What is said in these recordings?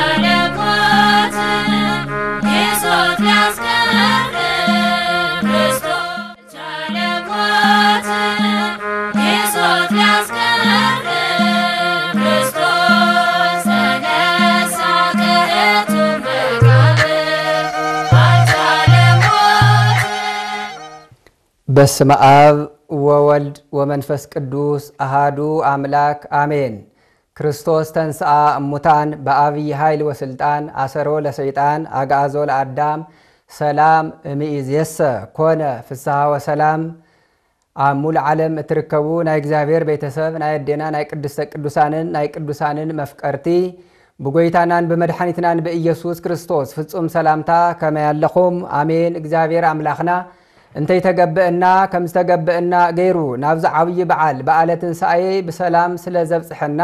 አልቻለሞት የሶት ሊያስቀር ክርስቶስ። አልቻለሞት የሶት ሊያስቀር ክርስቶስ። ተነሳ ከሕቱ መቃብር። አልቻለሞት። በስመ አብ ወወልድ ወመንፈስ ቅዱስ አሃዱ አምላክ አሜን። ክርስቶስ ተንሥአ እሙታን በአብይ ኃይል ወስልጣን አሰሮ ለሰይጣን አግዓዞ ለአዳም ሰላም እምይእዜሰ ኮነ ፍስሐ ወሰላም። ኣብ ሙሉ ዓለም እትርከቡ ናይ እግዚኣብሔር ቤተሰብ ናይ ኣዴና ናይ ቅድስተ ቅዱሳንን ናይ ቅዱሳንን መፍቀርቲ ብጎይታናን ብመድሓኒትናን ብኢየሱስ ክርስቶስ ፍጹም ሰላምታ ከመይ ኣለኹም? ኣሜን። እግዚኣብሔር ኣምላኽና እንተይተገብእና ከም ዝተገብእና ገይሩ ናብዚ ዓብዪ በዓል በዓለ ትንሳኤ ብሰላም ስለ ዘብጽሐና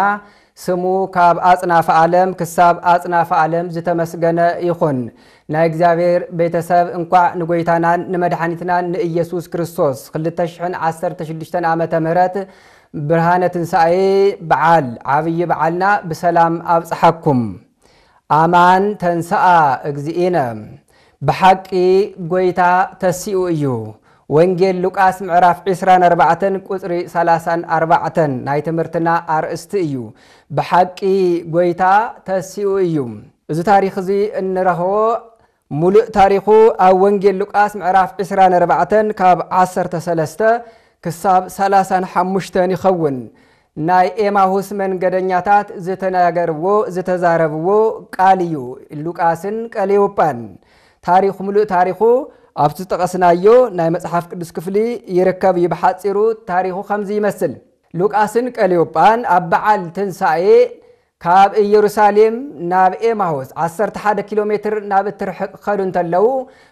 ስሙ ካብ ኣጽናፈ ዓለም ክሳብ ኣጽናፈ ዓለም ዝተመስገነ ይኹን። ናይ እግዚኣብሔር ቤተሰብ እንኳዕ ንጎይታናን ንመድሓኒትናን ንኢየሱስ ክርስቶስ ክልተ ሽሕን ዓሰርተ ሽዱሽተን ዓመተ ምህረት ብርሃነ ትንሳኤ በዓል ዓብዪ በዓልና ብሰላም ኣብጽሓኩም። ኣማን ተንስኣ እግዚእነ፣ ብሓቂ ጎይታ ተሲኡ እዩ። ወንጌል ሉቃስ ምዕራፍ ዕስራን ኣርባዕተን ቁጽሪ ሰላሳን ኣርባዕተን ናይ ትምህርትና ኣርእስቲ እዩ። ብሓቂ ጎይታ ተሲኡ እዩ። እዚ ታሪኽ እዚ እንረኽቦ ሙሉእ ታሪኹ ኣብ ወንጌል ሉቃስ ምዕራፍ ዕስራን ኣርባዕተን ካብ ዓሰርተ ሰለስተ ክሳብ ሰላሳን ሓሙሽተን ይኸውን። ናይ ኤማሁስ መንገደኛታት ዝተናገርዎ፣ ዝተዛረብዎ ቃል እዩ። ሉቃስን ቀሌዮጳን። ታሪኹ፣ ሙሉእ ታሪኹ ኣብቲ ዝጠቐስናዮ ናይ መጽሓፍ ቅዱስ ክፍሊ ይርከብ እዩ። ብሓጺሩ ታሪኹ ከምዚ ይመስል። ሉቃስን ቀሌዮጳን ኣብ በዓል ትንሳኤ ካብ ኢየሩሳሌም ናብ ኤማሁስ ዓሰርተ ሓደ ኪሎ ሜትር ናብ እትርሕቕ ክኸዱ እንተለዉ፣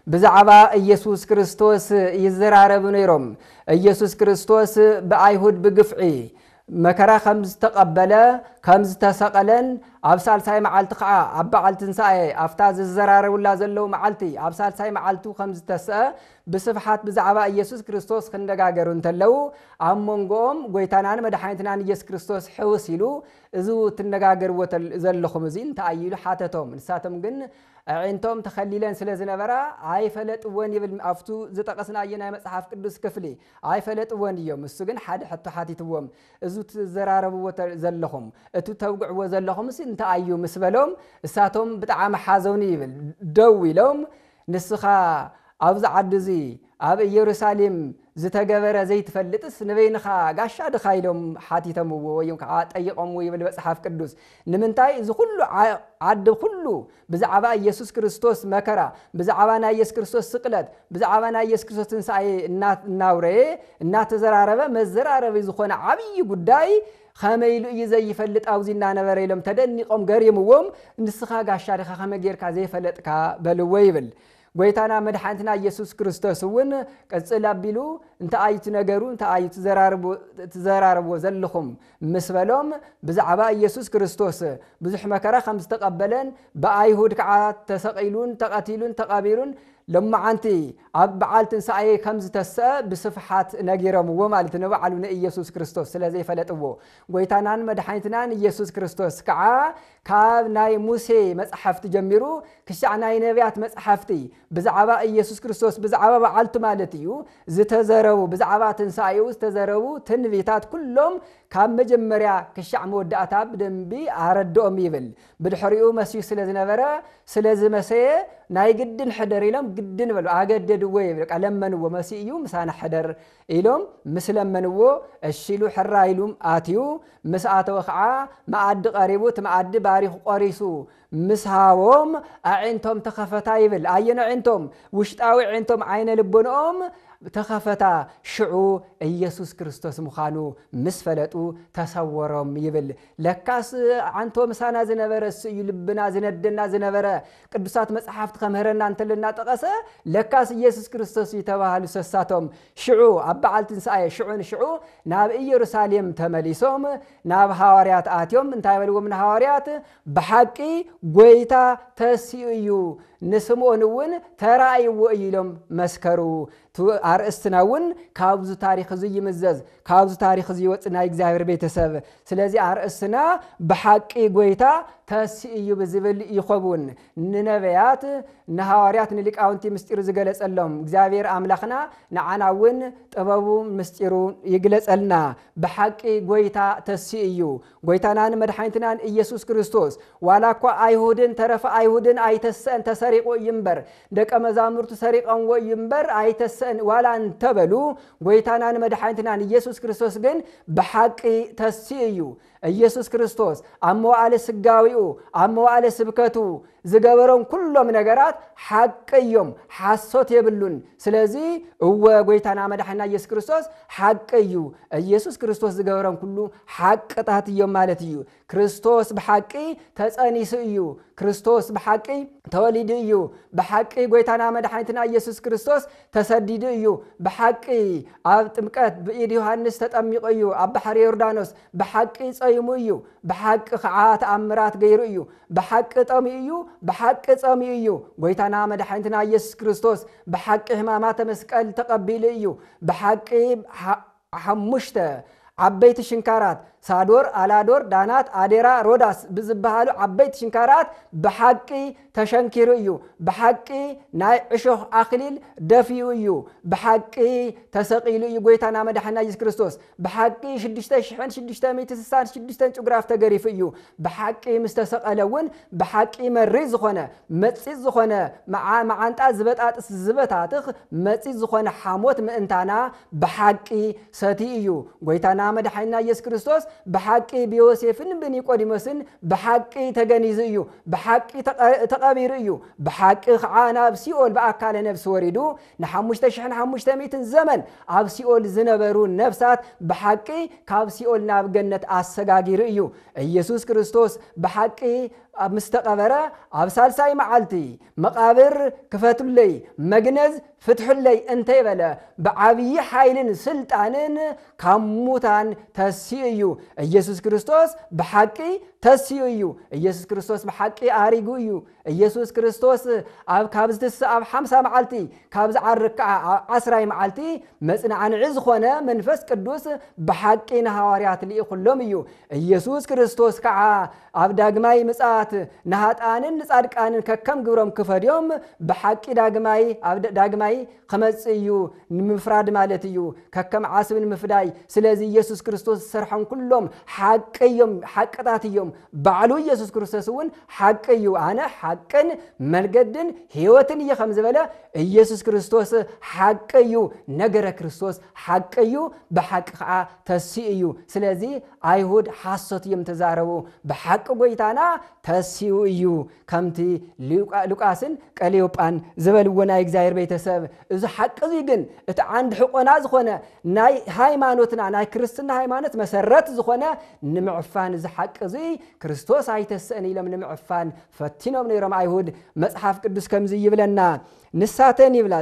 ብዛዕባ ኢየሱስ ክርስቶስ ይዘራረቡ ነይሮም። ኢየሱስ ክርስቶስ ብኣይሁድ ብግፍዒ መከራ ከም ዝተቐበለ፣ ከም ዝተሰቐለን፣ ኣብ ሳልሳይ መዓልቲ ኸዓ ኣብ በዓል ትንሳኤ፣ ኣብታ ዝዘራረቡላ ዘለዉ መዓልቲ፣ ኣብ ሳልሳይ መዓልቱ ከም ዝተስአ ብስፍሓት ብዛዕባ ኢየሱስ ክርስቶስ ክነጋገሩ እንተለዉ፣ ኣብ መንጎኦም ጎይታናን መድሓኒትናን ኢየሱስ ክርስቶስ ሕውስ ኢሉ፣ እዚ እትነጋገርዎ ተል-፣ ዘለኹም እዚ እንታይ እዩ ኢሉ ሓተቶም። ንሳቶም ግን ኣዒንቶም ተኸሊለን ስለ ዝነበራ ኣይፈለጥዎን ይብል ኣብቱ ዝጠቐስናዮ ናይ መጽሓፍ ቅዱስ ክፍሊ። ኣይፈለጥዎን እዮም። እሱ ግን ሓደ ሕቶ ሓቲትዎም። እዚ ትዘራረብዎ ተ-፣ ዘለኹም፣ እቲ ተውግዕዎ ዘለኹምስ እንታይ እዩ ምስ በሎም፣ እሳቶም ብጣዕሚ ሓዘኑ ይብል። ደው ኢሎም፣ ንስኻ ኣብዚ ዓዲ እዚ ኣብ ኢየሩሳሌም ዝተገበረ ዘይትፈልጥስ ንበይንኻ ጋሻ ድኻ ኢሎም ሓቲተምዎ ወይ ከዓ ጠይቖምዎ ይብል መጽሓፍ ቅዱስ። ንምንታይ እዚ ኩሉ ዓ-፣ ዓዲ ኩሉ ብዛዕባ ኢየሱስ ክርስቶስ መከራ፣ ብዛዕባ ናይ ኢየሱስ ክርስቶስ ስቅለት፣ ብዛዕባ ናይ ኢየሱስ ክርስቶስ ትንሳኤ እና-፣ እናውረየ፣ እናተዘራረበ መዘራረቢ ዝኾነ ዓብዪ ጉዳይ ከመይ ኢሉ እዩ ዘይፈልጥ ኣብዚ እናነበረ ኢሎም ተደኒቖም ገሪምዎም፣ ንስኻ ጋሻ ዲኻ ከመይ ጌርካ ዘይፈለጥካ በልዎ ይብል። ጎይታና መድሓኒትና ኢየሱስ ክርስቶስ እውን ቅጽል ኣቢሉ እንታይ እዩ እቲ ነገሩ፣ እንታይ እዩ ትዘራርቡ-፣ ትዘራረብዎ ዘለኹም ምስ በሎም ብዛዕባ ኢየሱስ ክርስቶስ ብዙሕ መከራ ከም ዝተቐበለን ብኣይሁድ ከዓ ተሰቒሉን ተቐቲሉን ተቐቢሩን ሎማዓንቲ ኣብ በዓል ትንሳኤ ከም ዝተስአ ብስፍሓት ነጊሮምዎ ማለት ንባዕሉ ንኢየሱስ ክርስቶስ ስለ ዘይፈለጥዎ። ጎይታናን መድሓኒትናን ኢየሱስ ክርስቶስ ከዓ ካብ ናይ ሙሴ መጽሓፍቲ ጀሚሩ ክሻዕ ናይ ነቢያት መጽሓፍቲ ብዛዕባ ኢየሱስ ክርስቶስ ብዛዕባ በዓልቱ ማለት እዩ ዝተዘረቡ፣ ብዛዕባ ትንሳኤኡ ዝተዘረቡ ትንቢታት ኩሎም ካብ መጀመርያ ክሻዕ መወዳእታ ብደንቢ ኣረድኦም ይብል። ብድሕሪኡ መስዩ ስለ ዝነበረ፣ ስለ ዝመሰየ ናይ ግድን ሕደር ኢሎም ግድን በሉ፣ ኣገደድዎ ይብል። በቃ ለመንዎ፣ መስዩ እዩ ምሳና ሕደር ኢሎም ምስ ለመንዎ፣ እሺ ኢሉ ሕራ ኢሉ ኣትዩ። ምስ ኣተወ ኸዓ መኣዲ ቀሪቡ፣ እቲ መኣዲ ባሪኹ ቆሪሱ ምስ ሃቦም ኣዒንቶም ተኸፈታ ይብል። ኣየን ኣዒንቶም? ውሽጣዊ ኣዒንቶም፣ ዓይነ ልቦንኦም ተኸፈታ። ሽዑ ኢየሱስ ክርስቶስ ምዃኑ ምስ ፈለጡ ተሰወሮም ይብል። ለካስ ኣንቶ ምሳና ዝነበረ እሱ እዩ፣ ልብና ዝነደና ዝነበረ፣ ቅዱሳት መጽሓፍቲ ከምህረና እንተሎ እናጠቐሰ፣ ለካስ ኢየሱስ ክርስቶስ እዩ ተባሃሉ ሰሳቶም። ሽዑ ኣብ በዓል ትንሳኤ ሽዑ ንሽዑ ናብ ኢየሩሳሌም ተመሊሶም ናብ ሃዋርያት ኣትዮም እንታይ በልዎም ንሃዋርያት? ብሓቂ ጎይታ ተሲኡ እዩ፣ ንስምዖን እውን ተራእይዎ እዩ ኢሎም መስከሩ። ኣርእስትና እውን ካብዚ ታሪኽ እዚ ይምዘዝ፣ ካብዚ ታሪኽ እዚ ይወፅእ ናይ እግዚኣብሔር ቤተሰብ። ስለዚ ኣርእስትና ብሓቂ ጎይታ ተሲ እዩ ብዝብል ይኸውን። ንነቢያት፣ ንሃዋርያት፣ ንሊቃውንቲ ምስጢሩ ዝገለጸሎም እግዚኣብሔር ኣምላኽና ንዓና እውን ጥበቡ ምስጢሩ ይግለጸልና። ብሓቂ ጎይታ ተሲ እዩ። ጎይታናን መድሓኒትናን ኢየሱስ ክርስቶስ ዋላ እኳ ኣይሁድን ተረፈ ኣይሁድን ኣይተሰአን፣ ተሰሪቑ እዩ እምበር፣ ደቀ መዛሙርቱ ሰሪቐንዎ እዩ እምበር ኣይተሰአን ዋላ እንተበሉ፣ ጎይታናን መድሓኒትናን ኢየሱስ ክርስቶስ ግን ብሓቂ ተሲ እዩ። ኢየሱስ ክርስቶስ ኣብ መዋእለ ስጋዊኡ፣ ኣብ መዋእለ ስብከቱ ዝገበሮም ኩሎም ነገራት ሓቂ እዮም፣ ሓሶት የብሉን። ስለዚ እወ ጎይታና መድሓኒና ኢየሱስ ክርስቶስ ሓቂ እዩ። ኢየሱስ ክርስቶስ ዝገበሮም ኩሉ ሓቅታት እዮም ማለት እዩ። ክርስቶስ ብሓቂ ተጸኒሱ እዩ። ክርስቶስ ብሓቂ ተወሊዱ እዩ። ብሓቂ ጎይታና መድሓኒትና ኢየሱስ ክርስቶስ ተሰዲዱ እዩ። ብሓቂ ኣብ ጥምቀት ብኢድ ዮሃንስ ተጠሚቑ እዩ። ኣብ ባሕሪ ዮርዳኖስ ብሓቂ ጸይሙ እዩ። ብሓቂ ኸዓ ተኣምራት ገይሩ እዩ። ብሓቂ ጠሚኡ እዩ። ብሓቂ ጸሚኡ እዩ። ጎይታና መድሓኒትና ኢየሱስ ክርስቶስ ብሓቂ ሕማማተ መስቀል ተቐቢሉ እዩ። ብሓቂ ሓ-፣ ሓሙሽተ ዓበይቲ ሽንካራት ሳዶር፣ ኣላዶር፣ ዳናት፣ ኣዴራ፣ ሮዳስ ብዝበሃሉ ዓበይቲ ሽንካራት ብሓቂ ተሸንኪሩ እዩ። ብሓቂ ናይ ዕሾኽ ኣኽሊል ደፊኡ እዩ። ብሓቂ ተሰቒሉ እዩ ጎይታና መድሓኒና ኢየሱስ ክርስቶስ። ብሓቂ ሽዱሽተ ሽሕን ሽዱሽተ ሚእቲ ስሳን ሽዱሽተን ጭጉራፍ ተገሪፉ እዩ። ብሓቂ ምስ ተሰቐለ እውን ብሓቂ መሪር ዝኾነ፣ መጺጽ ዝኾነ፣ መዓ-፣ መዓንጣ ዝበጣጥስ ዝበታትኽ መጺጽ ዝኾነ ሓሞት ምእንታና ብሓቂ ሰቲ እዩ። ጎይታና መድሓኒና ኢየሱስ ክርስቶስ ብሓቂ ብዮሴፍን ብኒቆዲሞስን ብሓቂ ተገኒዙ እዩ። ብሓቂ ተቐ-፣ ተቐቢሩ እዩ። ብሓቂ ኸዓ ናብ ሲኦል ብኣካለ ነፍሲ ወሪዱ ንሓሙሽተ ሽሕን ሓሙሽተ ሚእትን ዘመን ኣብ ሲኦል ዝነበሩ ነፍሳት ብሓቂ ካብ ሲኦል ናብ ገነት ኣሰጋጊሩ እዩ። ኢየሱስ ክርስቶስ ብሓቂ ኣብ ምስ ተቐበረ ኣብ ሳልሳይ መዓልቲ መቓብር ክፈቱለይ፣ መግነዝ ፍትሑለይ እንተይበለ ብዓብዪ ሓይልን ስልጣንን ካብ ሙታን ተሲኡ እዩ። ኢየሱስ ክርስቶስ ብሓቂ ተሲኡ እዩ። ኢየሱስ ክርስቶስ ብሓቂ ኣሪጉ እዩ። ኢየሱስ ክርስቶስ ኣብ ካብ ዝትስእ ኣብ ሓምሳ መዓልቲ፣ ካብ ዝዓርግ ከዓ ኣብ ዓስራይ መዓልቲ መጽናዕንዒ ዝኾነ መንፈስ ቅዱስ ብሓቂ ንሃዋርያት ልኢኹሎም እዩ። ኢየሱስ ክርስቶስ ከዓ ኣብ ዳግማይ ምጽኣት ንሃጣንን ንጻድቃንን ከከም ግብሮም ክፈድዮም ብሓቂ ዳግማይ፣ ኣብ ዳ-፣ ዳግማይ ክመጽእ እዩ፣ ንምፍራድ ማለት እዩ፣ ከከም ዓስቢ ንምፍዳይ። ስለዚ ኢየሱስ ክርስቶስ ዝሰርሖም ኩሎም ሓቂ እዮም፣ ሓቅታት እዮም። ባዕሉ ኢየሱስ ክርስቶስ እውን ሓቂ እዩ። ኣነ ሓቅን መንገድን ህይወትን እየ ከም ዝበለ ኢየሱስ ክርስቶስ ሓቂ እዩ። ነገረ ክርስቶስ ሓቂ እዩ፣ ብሓቂ ከዓ ተሲኡ እዩ። ስለዚ ኣይሁድ ሓሶት እዮም ተዛረቡ፣ ብሓቂ ጎይታና ተሲኡ እዩ። ከምቲ ሉቃ-፣ ሉቃስን ቀሌዮጳን ዝበልዎ ናይ እግዚኣብሔር ቤተሰብ፣ እዚ ሓቂ እዚ ግን እቲ ዓንዲ ሕቆና ዝኾነ ናይ ሃይማኖትና፣ ናይ ክርስትና ሃይማኖት መሰረት ዝኾነ ንምዕፋን እዚ ሓቂ እዚ ክርስቶስ ኣይተስእን ኢሎም ንምዕፋን ፈቲኖም ነይሮም ኣይሁድ። መጽሓፍ ቅዱስ ከምዚ ይብለና፣ ንሳተን ይብላ፣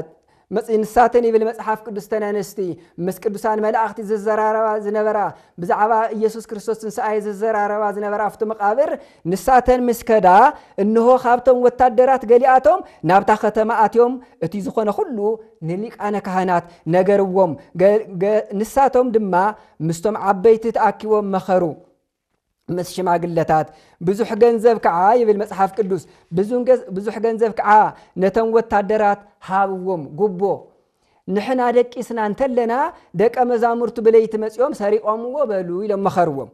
መጽ-፣ ንሳተን ይብል መጽሓፍ ቅዱስ፣ እተን ኣንስቲ ምስ ቅዱሳን መላእኽቲ ዝዘራረባ ዝነበራ፣ ብዛዕባ ኢየሱስ ክርስቶስ ትንሳኤ ዝዘራረባ ዝነበራ ኣብቲ መቓብር፣ ንሳተን ምስ ከዳ፣ እንሆ፣ ካብቶም ወታደራት ገሊኣቶም ናብታ ከተማ ኣትዮም፣ እቲ ዝኾነ ኩሉ ንሊቃነ ካህናት ነገርዎም። ገ-፣ ገ-፣ ንሳቶም ድማ ምስቶም ዓበይቲ ተኣኪቦም መኸሩ። ምስ ሽማግለታት፣ ብዙሕ ገንዘብ ከዓ፣ ይብል መጽሓፍ ቅዱስ፣ ብዙን ገዝ-፣ ብዙሕ ገንዘብ ከዓ ነቶም ወታደራት ሃብዎም፣ ጉቦ። ንሕና ደቂስና እንተለና፣ ደቀ መዛሙርቱ ብለይቲ መጺኦም ሰሪቖምዎ በሉ ኢሎም መኸርዎም።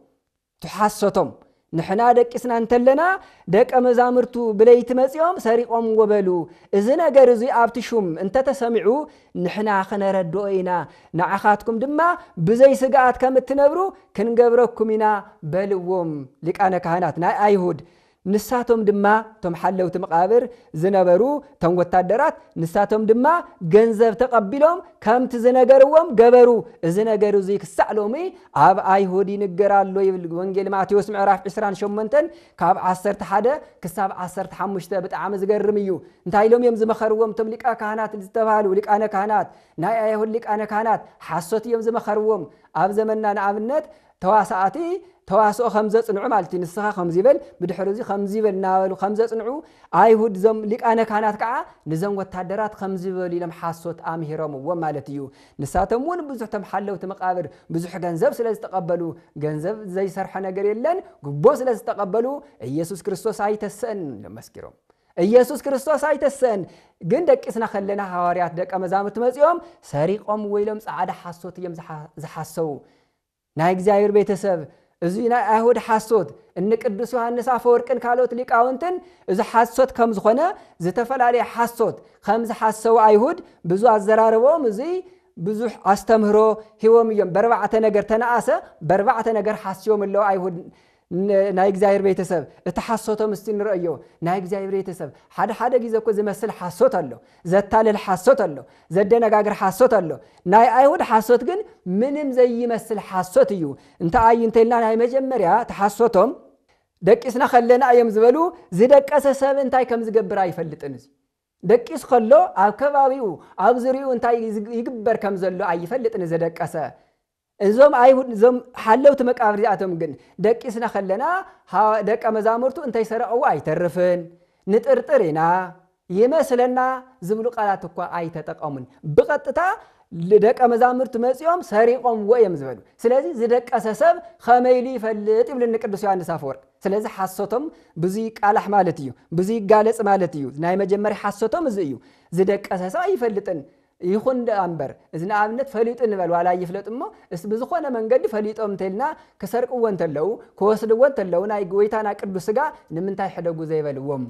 ትሓሰቶም። ንሕና ደቂስና እንተለና፣ ደቀ መዛሙርቱ ብለይቲ መጺኦም ሰሪቖምዎ በሉ። እዚ ነገር እዚ ኣብቲ ሹም እንተተሰሚዑ፣ ንሕና ኽነረድኦ ኢና። ንዓኻትኩም ድማ ብዘይ ስግኣት ከም እትነብሩ ክንገብረኩም ኢና በልዎም። ሊቃነ ካህናት ናይ ኣይሁድ። ንሳቶም ድማ፣ እቶም ሓለውቲ መቓብር ዝነበሩ፣ እቶም ወታደራት፣ ንሳቶም ድማ ገንዘብ ተቐቢሎም ከምቲ ዝነገርዎም ገበሩ። እዚ ነገር እዚ ክሳዕ ሎሚ ኣብ ኣይሁድ ይንገር ኣሎ ይብል ወንጌል ማቴዎስ ምዕራፍ ዕስራን ሸሞንተን ካብ ዓሰርተ ሓደ ክሳብ ዓሰርተ ሓሙሽተ። ብጣዕሚ ዝገርም እዩ። እንታይ ኢሎም እዮም ዝመኸርዎም እቶም ሊቃ ካህናት ዝተባህሉ፣ ሊቃነ ካህናት፣ ናይ ኣይሁድ ሊቃነ ካህናት? ሓሶት እዮም ዝመኸርዎም። ኣብ ዘመንና ንኣብነት ተዋሳእቲ ተዋስኦ ከም ዘጽንዑ ማለት እዩ። ንስኻ ከምዚ ይበል፣ ብድሕሪ እዚ ከምዚ ይበል እናበሉ ከም ዘጽንዑ፣ ኣይሁድ እዞም ሊቃነ ካህናት ከዓ ንዞም ወታደራት ከምዚ ይበሉ ኢሎም ሓሶት ኣምሂሮምዎም ማለት እዩ። ንሳቶም እውን ብዙሕ፣ እቶም ሓለውቲ መቃብር ብዙሕ ገንዘብ ስለ ዝተቐበሉ፣ ገንዘብ ዘይሰርሐ ነገር የለን፣ ጉቦ ስለ ዝተቐበሉ፣ ኢየሱስ ክርስቶስ ኣይተሰእን ኢሎም መስኪሮም። ኢየሱስ ክርስቶስ ኣይተሰእን። ግን ደቂስና ከለና፣ ሃዋርያት ደቀ መዛሙርቲ መጺኦም ሰሪቖም ወይ ኢሎም ጻዕዳ ሓሶት እዮም ዝሓ-፣ ዝሓሰዉ። ናይ እግዚኣብሔር ቤተሰብ፣ እዚ ናይ ኣይሁድ ሓሶት፣ እኒ ቅዱስ ዮሃንስ ኣፈወርቅን ካልኦት ሊቃውንትን እዚ ሓሶት ከም ዝኾነ፣ ዝተፈላለየ ሓሶት ከም ዝሓሰዉ ኣይሁድ ብዙ ኣዘራርቦም፣ እዚ ብዙሕ ኣስተምህሮ ሂቦም እዮም። በርባዕተ ነገር ተነኣሰ፣ በርባዕተ ነገር ሓስዮም ኣለዉ ኣይሁድ። ን-፣ ናይ እግዚኣብሔር ቤተሰብ፣ እቲ ሓሶቶም እስቲ ንረእዮ። ናይ እግዚኣብሔር ቤተሰብ፣ ሓደ ሓደ ግዜ እኮ ዝመስል ሓሶት ኣሎ፣ ዘታልል ሓሶት ኣሎ፣ ዘደነጋግር ሓሶት ኣሎ። ናይ ኣይሁድ ሓሶት ግን ምንም ዘይመስል ሓሶት እዩ። እንታይ እዩ እንተልና፣ ናይ መጀመርያ እቲ ሓሶቶም፣ ደቂስና ከለና እዮም ዝበሉ፣ ዝደቀሰ ሰብ እንታይ ከም ዝገብር ኣይፈልጥን። እዚ ደቂስ ከሎ ኣብ ከባቢኡ፣ ኣብ ዙሪኡ እንታይ ይዝ-፣ ይግበር ከም ዘሎ ኣይፈልጥን ዝደቀሰ። እዞም ኣይሁድ፣ እዞም ሓለውቲ መቃብር እዚኣቶም ግን፣ ደቂስና ከለና፣ ሃ-፣ ደቀ መዛሙርቱ እንተይሰረቐዎ ኣይተርፍን፣ ንጥርጥር ኢና፣ ይመስለና ዝብሉ ቃላት እኳ ኣይተጠቐሙን። ብቐጥታ ደቀ መዛሙርቱ መጺኦም ሰሪቖምዎ እዮም ዝበሉ። ስለዚ ዝደቀሰ ሰብ ከመይ ኢሉ ይፈልጥ ይብልኒ ቅዱስ ዮሃንስ ኣፈወርቅ። ስለዚ ሓሶቶም ብዙይ ይቃላሕ ማለት እዩ፣ ብዙይ ይጋለጽ ማለት እዩ። ናይ መጀመርያ ሓሶቶም እዚ እዩ። ዝደቀሰ ሰብ ኣይፈልጥን። ይኹን ደኣ እምበር፣ እዚ ንኣብነት ፈሊጡ ንበል፣ ዋላ ይፍለጥ እሞ፣ እስ ብዝኾነ መንገዲ ፈሊጦም እንተልና፣ ክሰርቅዎ እንተለዉ፣ ክወስድዎ እንተለዉ፣ ናይ ጎይታና ቅዱስ ሥጋ ንምንታይ ሕደጉ ዘይበልዎም?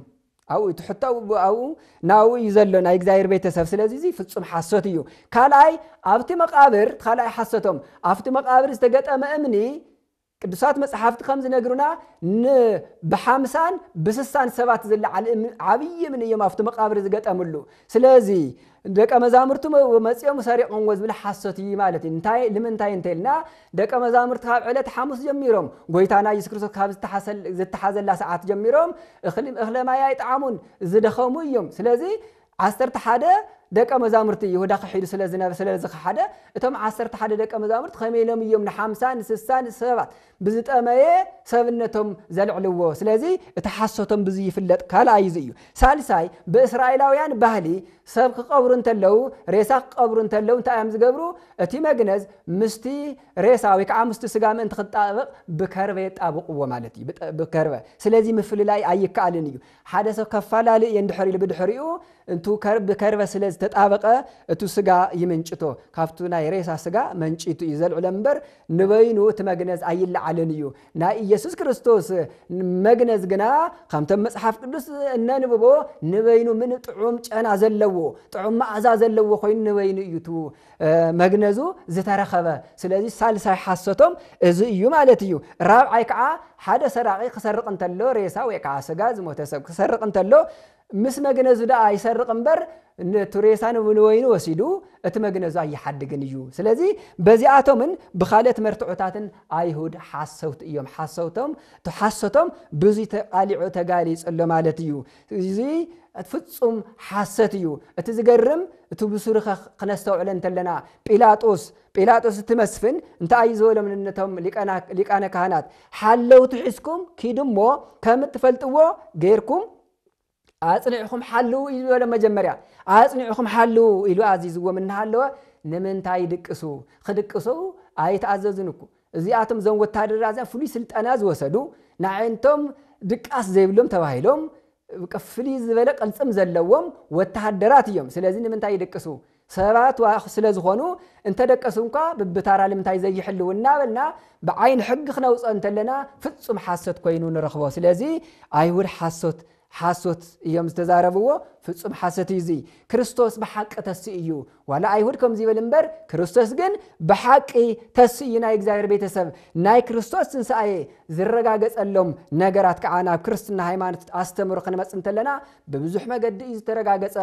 ኣብኡ እቲ ሕቶ ኣብኡ፣ ኣብኡ ናብኡ እዩ ዘሎ፣ ናይ እግዚኣብሔር ቤተሰብ። ስለዚ እዚ ፍጹም ሓሶት እዩ። ካልኣይ፣ ኣብቲ መቃብር፣ ካልኣይ ሓሶቶም፣ ኣብቲ መቃብር ዝተገጠመ እምኒ፣ ቅዱሳት መጽሓፍቲ ከም ዝነግሩና፣ ን-፣ ብሓምሳን ብስሳን ሰባት ዝለዓል እም-፣ ዓብዪ እምኒ እዮም ኣብቲ መቃብር ዝገጠምሉ። ስለዚ ደቀ መዛሙርቱ መ-፣ መጺኦም ሰሪቖምዎ ዝብል ሓሶት እዩ ማለት እዩ። እንታይ፣ ንምንታይ እንተ ኢልና፣ ደቀ መዛሙርቲ ካብ ዕለት ሓሙስ ጀሚሮም፣ ጎይታና የሱስ ክርስቶስ ካብ ዝተሓሰል-፣ ዝተሓዘላ ሰዓት ጀሚሮም፣ እኽሊ፣ እኽለ ማይ ኣይጠዓሙን፣ ዝደኸሙ እዮም። ስለዚ ዓሰርተ ሓደ ደቀ መዛሙርቲ፣ ይሁዳ ክሒዱ ስለ ዝነበ፣ ስለ ዝኸሓደ፣ እቶም ዓሰርተ ሓደ ደቀ መዛሙርቲ ከመይ ኢሎም እዮም ንሓምሳ፣ ንስሳ፣ ንሰባት ብዝጠመየ ሰብነቶም ዘልዕልዎ? ስለዚ እቲ ሓሶቶም ብዙይ ይፍለጥ። ካልኣይ እዚ እዩ። ሳልሳይ፣ ብእስራኤላውያን ባህሊ ሰብ ክቐብሩ እንተለዉ፣ ሬሳ ክቐብሩ እንተለዉ እንታይ እዮም ዝገብሩ? እቲ መግነዝ ምስቲ ሬሳ ወይ ከዓ ምስቲ ስጋ ምእንቲ ክጣበቕ ብከርበ የጣብቕዎ ማለት እዩ። ብጠ-፣ ብከርበ። ስለዚ ምፍልላይ ኣይከኣልን እዩ። ሓደ ሰብ ከፋላሊ እየ እንድሕር ኢሉ ብድሕሪኡ፣ እንቱ ከር-፣ ብከርበ ስለ ዝተጣበቐ፣ እቱ ስጋ ይምንጭቶ። ካብቱ ናይ ሬሳ ስጋ መንጭቱ እዩ ዘልዕሎ እምበር፣ ንበይኑ እቲ መግነዝ ኣይለዓልን እዩ። ናይ ኢየሱስ ክርስቶስ መግነዝ ግና፣ ከምቶም መጽሓፍ ቅዱስ እነንብቦ፣ ንበይኑ ምን ጥዑም ጨና ዘለዎ፣ ጥዑም መኣዛ ዘለዎ ኮይኑ ንበይኑ እዩ እቱ፣ እ፣ መግነዙ ዝተረኸበ። ስለዚ ሳልሳይ ሓሶቶም እዚ እዩ ማለት እዩ። ራብዓይ ከዓ፣ ሓደ ሰራቒ ክሰርቕ እንተሎ፣ ሬሳ ወይ ከዓ ስጋ ዝሞተ ሰብ ክሰርቕ እንተሎ፣ ምስ መግነዙ ደኣ ይሰርቕ እምበር፣ ነቲ ሬሳ ንብ-፣ ንበይኑ ወሲዱ፣ እቲ መግነዙ ኣይሓድግን እዩ። ስለዚ በዚኣቶምን ብኻልኦት መርትዖታትን ኣይሁድ ሓሰውቲ እዮም። ሓሰውቶም፣ እቲ ሓሶቶም ብዙይ ተቓሊዑ ተጋሊጹ ኣሎ ማለት እዩ። እዚ ፍጹም ሓሰት እዩ። እቲ ዝገርም፣ እቲ ብሱሩ ኸ-፣ ክነስተውዕሎ እንተለና፣ ጲላጦስ፣ ጲላጦስ እቲ መስፍን እንታይ እዩ ዝበሎም ነቶም ሊቃና-፣ ሊቃነ ካህናት? ሓለውቲ ሒዝኩም ኪዱ እሞ ከም እትፈልጥዎ ጌርኩም ኣጽኒዕኹም ሓልዉ እዩ ዝበሎም። መጀመርያ ኣጽኒዕኹም ሓልዉ ኢሉ ኣዚዝዎም እናሃለወ፣ ንምንታይ ይድቅሱ? ክድቅሱ ኣይተኣዘዙን እኮ። እዚኣቶም እዞም ወታደራት እዚኣ ፍሉይ ስልጠና ዝወሰዱ፣ ንዓይነቶም ድቃስ ዘይብሎም ተባሂሎም፣ በቃ ፍልይ ዝበለ ቅልጽም ዘለዎም ወተሃደራት እዮም። ስለዚ ንምንታይ ይድቅሱ? ሰባት ዋ-፣ ስለ ዝኾኑ፣ እንተደቀሱ እንኳ ብብታራ ልምንታይ ዘይሕልው እናበልና ብዓይኒ ሕጊ ክነውፅኦ እንተለና ፍጹም ሓሶት ኮይኑ ንረኽቦ። ስለዚ ኣይሁድ ሓሶት፣ ሓሶት እዮም ዝተዛረብዎ፣ ፍጹም ሓሶት እዩ እዚ። ክርስቶስ ብሓቂ ተስኡ እዩ። ዋላ ኣይሁድ ከምዚ ይበል እምበር፣ ክርስቶስ ግን ብሓቂ ተስኡ እዩ። ናይ እግዚኣብሔር ቤተሰብ፣ ናይ ክርስቶስ ትንሳኤ ዝረጋገጸሎም ነገራት ከዓ ናብ ክርስትና ሃይማኖት ኣስተምህሮ ክንመጽእ እንተለና ብብዙሕ መገዲ እዩ ዝተረጋገጸ።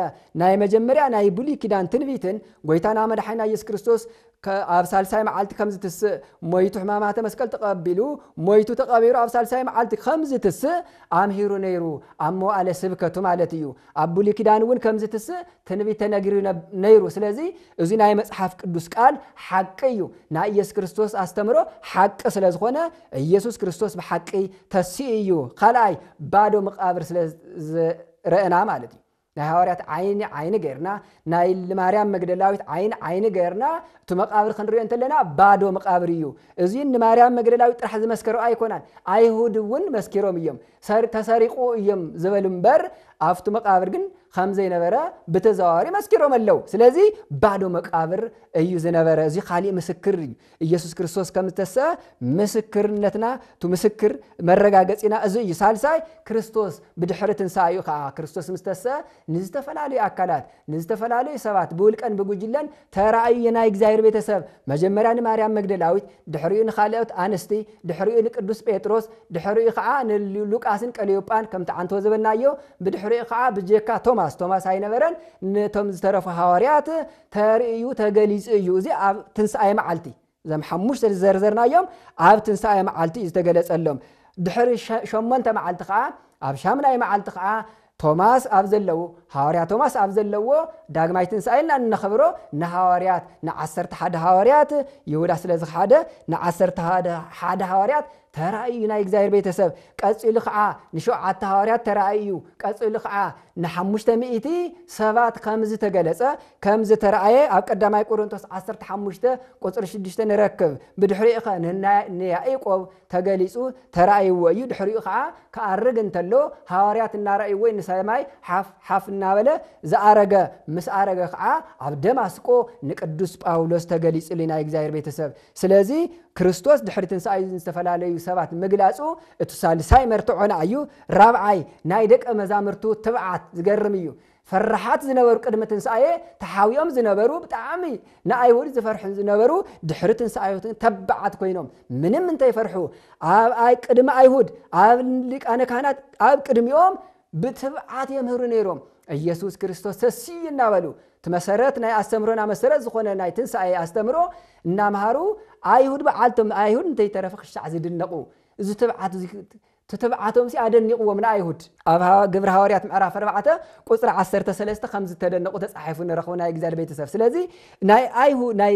ናይ መጀመርያ ናይ ብሉይ ኪዳን ትንቢትን ጎይታና መድሓኒና ኢየሱስ ክርስቶስ ከ-፣ ኣብ ሳልሳይ መዓልቲ ከም ዝትስእ፣ ሞይቱ ሕማማተ መስቀል ተቐቢሉ፣ ሞይቱ ተቐቢሩ ኣብ ሳልሳይ መዓልቲ ከም ዝትስእ ኣምሂሩ ነይሩ፣ ኣብ መዋእለ ስብከቱ ማለት እዩ። ኣብ ብሉይ ኪዳን እውን ከምዚ ትስእ ትንቢት ተነጊሩ ነብ-፣ ነይሩ። ስለዚ እዚ ናይ መጽሓፍ ቅዱስ ቃል ሓቂ እዩ። ናይ ኢየሱስ ክርስቶስ ኣስተምሮ ሓቂ ስለ ዝኾነ ኢየሱስ ክርስቶስ ብሓቂ ተሲኡ እዩ። ካልኣይ ባዶ መቃብር ስለ ዝረእና ማለት እዩ። ናይ ሃዋርያት ዓይኒ ዓይኒ ገይርና፣ ናይ ማርያም መግደላዊት ዓይኒ ዓይኒ ገይርና፣ እቲ መቃብር ክንሪኦ እንተለና ባዶ መቃብር እዩ። እዚ ንማርያም መግደላዊት ጥራሕ ዝመስከሮ ኣይኮናን፣ ኣይሁድ እውን መስኪሮም እዮም። ሰር-፣ ተሰሪቑ እዮም ዝበሉ እምበር ኣብቲ መቃብር ግን ከም ዘይነበረ ብተዘዋዋሪ መስኪሮም ኣለዉ። ስለዚ ባዶ መቃብር እዩ ዝነበረ። እዚ ካሊእ ምስክር እዩ። ኢየሱስ ክርስቶስ ከም ዝተሰአ ምስክርነትና፣ እቲ ምስክር መረጋገጺና እዚ እዩ። ሳልሳይ ክርስቶስ ብድሕሪ ትንሳኤኡ ከኣ፣ ክርስቶስ ምስ ተሰአ ንዝተፈላለዩ ኣካላት፣ ንዝተፈላለዩ ሰባት ብውልቀን ብጉጅለን ተራእዩ። ናይ እግዚኣብሔር ቤተሰብ መጀመርያ ንማርያም መግደላዊት፣ ድሕሪኡ ንኻልኦት ኣንስቲ፣ ድሕሪኡ ንቅዱስ ጴጥሮስ፣ ድሕሪኡ ከኣ ንሉቃስን ቀለዮጳን ከምቲ ዓንቶ ዝበልናዮ፣ ብድሕሪኡ ከኣ ብጀካ ቶማስ፣ ቶማስ ኣይነበረን፣ ነቶም ዝተረፉ ሃዋርያት ተርእዩ ተገሊጹ እዩ። እዚ ኣብ ትንሳኤ መዓልቲ እዞም ሓሙሽተ ዝዘርዘርናዮም ኣብ ትንሳኤ መዓልቲ እዩ ዝተገለጸሎም። ድሕሪ ሸ-፣ ሸሞንተ መዓልቲ ከኣ፣ ኣብ ሻምናይ መዓልቲ ከኣ ቶማስ ኣብ ዘለዎ፣ ሃዋርያ ቶማስ ኣብ ዘለዎ ዳግማይ ትንሳኤ ኢልና እነኽብሮ ንሃዋርያት፣ ንዓሰርተ ሓደ ሃዋርያት፣ ይሁዳ ስለ ዝኸሓደ ንዓሰርተ ሓደ፣ ሓደ ሃዋርያት ተራእዩ ናይ እግዚኣብሔር ቤተሰብ። ቀጺሉ ከኣ ንሸውዓተ ሃዋርያት ተራእዩ። ቀጺሉ ከኣ ንሓሙሽተ ሚእቲ ሰባት ከም ዝተገለጸ፣ ከም ዝተራእየ ኣብ ቀዳማይ ቆሮንቶስ ዓሰርተ ሓሙሽተ ቁጽሪ ሽዱሽተ ንረክብ። ብድሕሪኡ ኸ ንና-፣ ንያዕቆብ ተገሊጹ ተራእይዎ እዩ። ድሕሪኡ ኸዓ ክኣርግ እንተሎ ሃዋርያት እናረእይዎ ንሰማይ ሓፍ ሓፍ እናበለ ዝኣረገ፣ ምስ ኣረገ ኸዓ ኣብ ደማስቆ ንቅዱስ ጳውሎስ ተገሊጹሉ ናይ እግዚኣብሔር ቤተሰብ። ስለዚ ክርስቶስ ድሕሪ ትንሳኤ ዝተፈላለዩ ሰባት ምግላጹ እቲ ሳልሳይ መርትዖና እዩ። ራብዓይ ናይ ደቀ መዛሙርቱ ትብዓት ዝገርም እዩ። ፈራሓት ዝነበሩ ቅድሚ ትንሳኤ ተሓዊኦም ዝነበሩ ብጣዕሚ ንኣይሁድ ዝፈርሑ ዝነበሩ ድሕሪ ትንሳኤ ተባዓት ኮይኖም ምንም እንተይፈርሑ ኣብ ኣይ-፣ ቅድሚ ኣይሁድ ኣብ ሊቃነ ካህናት ኣብ ቅድሚኦም ብትብዓት የምህሩ ነይሮም። ኢየሱስ ክርስቶስ ተስዩ እናበሉ እቲ መሰረት ናይ ኣስተምህሮና መሰረት ዝኾነ ናይ ትንሳኤ ኣስተምህሮ እናምሃሩ ኣይሁድ በዓልቶም ኣይሁድ እንተይተረፈ ክሻዕ ዝድነቑ እዚ ትብዓት እዚ ትትብዓቶም ሲ ኣደኒቕዎም ንኣይሁድ። ኣብ ሃዋ-፣ ግብሪ ሃዋርያት ምዕራፍ ኣርባዕተ ቁጽሪ ዓሰርተ ሰለስተ ከም ዝተደነቑ ተጻሒፉ ንረኽቦ ናይ እግዚኣብሔር ቤተሰብ። ስለዚ ናይ ኣይሁ-፣ ናይ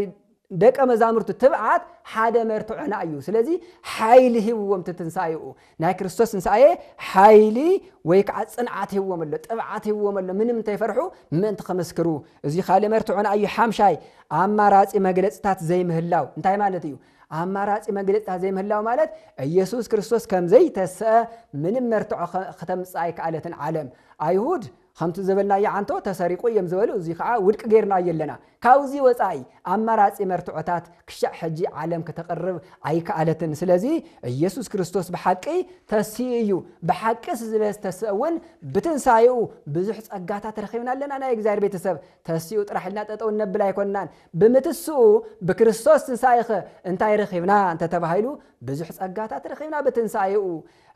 ደቀ መዛሙርቱ ትብዓት ሓደ መርትዖና እዩ። ስለዚ ሓይሊ ሂብዎም እቲ ትንሳኤኡ። ናይ ክርስቶስ ትንሳኤ ሓይሊ ወይ ከዓ ጽንዓት ሂብዎም ኣሎ፣ ጥብዓት ሂብዎም ኣሎ። ምንም እንተይፈርሑ ምእንቲ ክምስክሩ። እዚ ካልእ መርትዖና እዩ። ሓምሻይ ኣማራጺ መግለጽታት ዘይምህላው እንታይ ማለት እዩ? ኣማራጺ መግለጽታት ዘይምህላው ማለት ኢየሱስ ክርስቶስ ከም ዘይተስአ ምንም መርትዖ ኸ-፣ ከተምጽእ ኣይከኣለትን ዓለም። ኣይሁድ ከምቲ ዝበልናዮ ዓንቶ ተሰሪቑ እዮም ዝበሉ፣ እዚ ኸዓ ውድቂ ጌርናዮ ኣለና። ካብዚ ወጻኢ ኣማራጺ መርትዖታት ክሻዕ ሕጂ ዓለም ከተቕርብ ኣይከኣለትን። ስለዚ ኢየሱስ ክርስቶስ ብሓቂ ተስኡ እዩ። ብሓቂ ስለ ዝተስአ እውን ብትንሳኤኡ ብዙሕ ጸጋታት ረኺብና ኣለና። ናይ እግዚኣብሔር ቤተሰብ ተስኡ ጥራሕ ኢልና ጠጠው እነብል ኣይኮንናን። ብምትስኡ ብክርስቶስ ትንሳኤኸ እንታይ ረኺብና እንተተባሂሉ ብዙሕ ጸጋታት ረኺብና ብትንሳኤኡ።